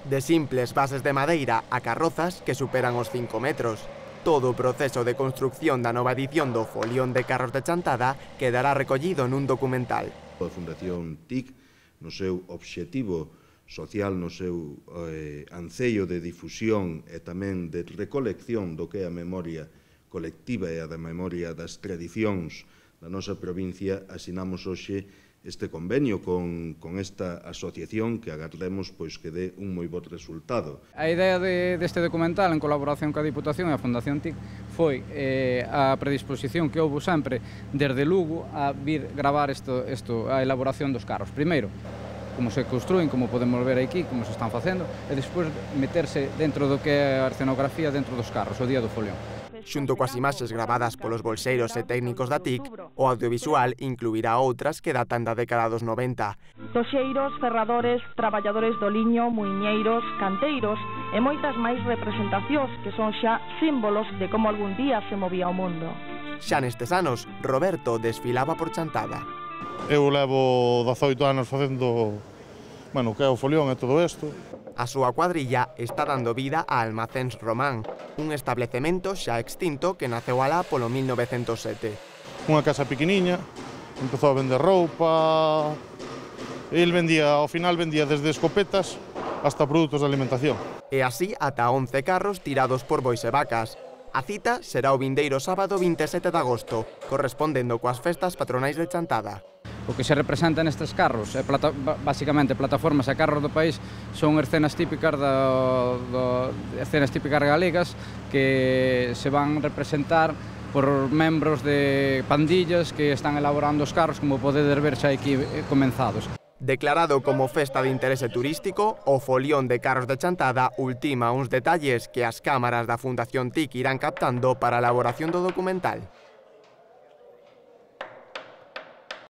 De simples bases de madeira a carrozas que superan os 5 metros. Todo o proceso de construcción da nova edición do Folión de Carros de Chantada quedará recollido nun documental. A Fundación TIC, no seu obxectivo social, no seu ancello de difusión e tamén de recolección do que é a memoria colectiva e a da memoria das tradicións da nosa provincia, asinamos hoxe este convenio con esta asociación que agardemos que dé un moi bo resultado. A idea deste documental, en colaboración coa Diputación e a Fundación TIC, foi a predisposición que houve sempre desde Lugo a vir gravar a elaboración dos carros. Primeiro, como se construen, como podemos ver aquí, como se están facendo, e despois meterse dentro do que é a escenografía dentro dos carros, o día do folión. Xunto coas imaxes gravadas polos bolseiros e técnicos da TIC, o audiovisual incluirá outras que datan da década dos 90. Toxeiros, ferradores, traballadores do liño, muiñeiros, canteiros e moitas máis representacións que son xa símbolos de como algún día se movía o mundo. Xa nestes anos, Roberto desfilaba por Chantada. Eu levo 18 anos facendo, que é o folión e todo isto. A súa cuadrilla está dando vida a Almacéns Román, un establecemento xa extinto que naceu alá polo 1907. Unha casa pequeniña, empezou a vender roupa, el ao final vendía desde escopetas hasta produtos de alimentación. E así ata 11 carros tirados por bois e vacas. A cita será o vindeiro sábado 27 de agosto, correspondendo coas festas patronais de Chantada. O que se representa nestes carros, basicamente plataformas e carros do país, son escenas típicas galegas que se van representar por membros de pandillas que están elaborando os carros, como podedes ver xa aquí comenzados. Declarado como festa de interese turístico, o Folión de Carros de Chantada ultima uns detalles que as cámaras da Fundación TIC irán captando para a elaboración do documental.